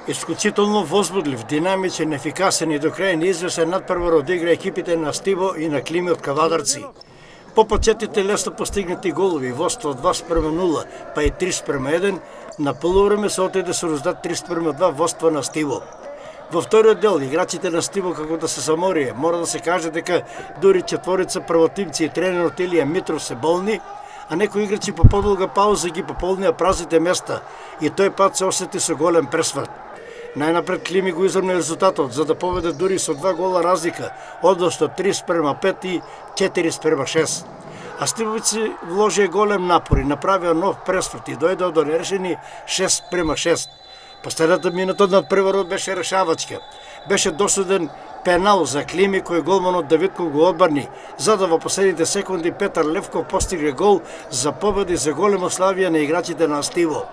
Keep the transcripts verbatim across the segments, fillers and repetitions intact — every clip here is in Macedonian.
Исклучително возбудлив, динамичен, ефикасен и до крај неизвесен надпревар одигра екипите на Стиво и на Клими од Кавадарци. По почетите лесно постигнати голови, водство два спрема нула, па и три спрема еден, на полувреме се отиде со резултат три спрема два водство на Стиво. Во вториот дел, играчите на Стиво како да се заморија, мора да се каже дека дури четворица првотимци и тренерот Илија Митров се болни, а некои играчи по подолга пауза ги пополнија празните места и тој пат се осети со голем пресврт. Најнапред Клими го изравна резултатот за да победе дури со два гола разлика, односно три спрема пет и четири спрема шест. А Стивовици вложија голем напор и направија нов пресврт и дојдоа до нерешени шест спрема шест. Последната минута од надпреварот беше решавачка. Беше досуден пенал за Клими кој голманот Давидков го одбрани, за да во последните секунди Петар Левков постигне гол за победа и за голема славија на играчите на Стиво.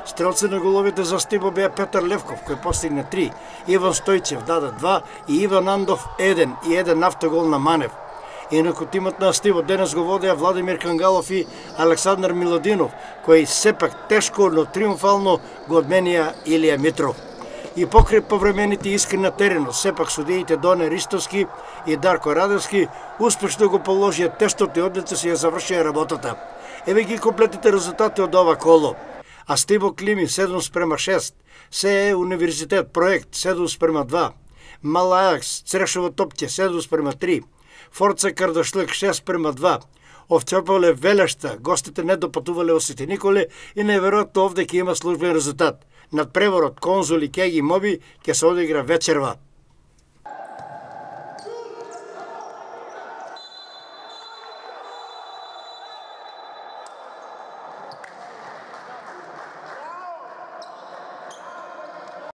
Стрелци на головите за Стиво беа Петар Левков кој постигне три, Иван Стојчев даде два и Иван Андов еден и еден автогол на Манев. Инаку тимот на Стиво денес го водеа Владимир Кангалов и Александар Милодинов, кои сепак тешко, но триумфално го одменија Илија Митров. И покрај повремените искри на теренот, сепак судиите Доне Ристовски и Дарко Радевски успешно го положија тестот и одлично си ја завршија работата. Еве ги комплетните резултати од ова коло. А Стиво Клими седум спрема шест, СЕ Универзитет проект седум спрема два, Мал Ајакс Црешово Топче седум спрема три, Форца Кардашлик шест спрема два, Овчополе Велешта, гостите не допатувале во Свети Николе и неверојатно овде ќе има службен резултат. Надпреварот Конзули Кеги Моби ќе се одигра вечерва.